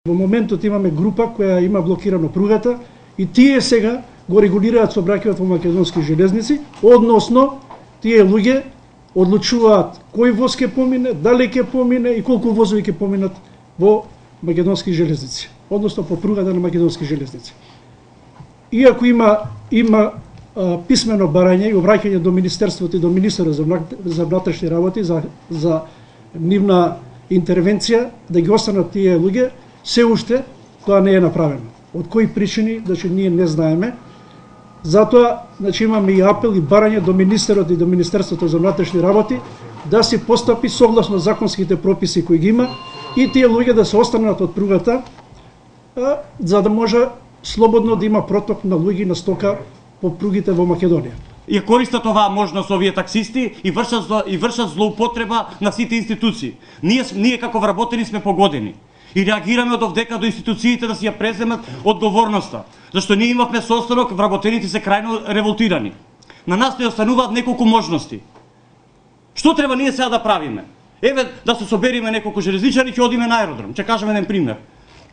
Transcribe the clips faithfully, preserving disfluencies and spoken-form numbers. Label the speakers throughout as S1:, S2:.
S1: Во моментот имаме група која има блокирано пругата и тие сега го регулираат сообраќајот во македонски железници, односно тие луѓе одлучуваат кој воз ќе помине, дали ќе помине и колку возови ќе поминат во македонски железници, односно по пругата на македонски железници. Иако има има а, писмено барање и обраќање до Министерството и до министерот за, за внатрешни работи за за нивна интервенција да ги останат тие луѓе, се уште тоа не е направено. Од кои причини, значи ние не знаеме. Затоа, значи имаме и апел и барање до министерот и до Министерството за внатрешни работи да се постапи согласно законските прописи кои ги има и тие луѓе да се останат од пругата, а, за да може слободно да има проток на луѓе на стока по пругите во Македонија.
S2: Ја користат оваа можност овие таксисти и вршат и вршат злоупотреба на сите институции. Ние ние како вработени сме погодени и реагираме од овдека до институциите да си ја преземат одговорноста, зашто ние имавме состанок, вработените се крајно револтирани. На нас не остануваат неколку можности. Што треба ние сега да правиме? Еве да се собериме неколку железничари ќе одиме на аеродром. Ќе кажеме еден пример.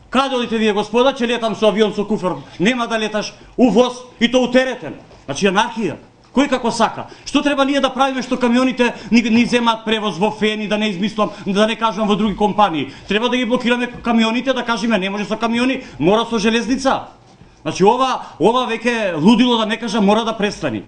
S2: Каде одите вие, господа? Ќе летам со авион со куфар. Нема да леташ увоз и то утеретен. Значи анархија. Кој како сака? Што треба ние да правиме што камионите ни, ни земаат превоз во Фени, да не измислам, да не кажам во други компании. Треба да ги блокираме камионите, да кажеме не може со камиони, мора со железница. Значи ова ова веќе лудило, да не кажам, мора да престани.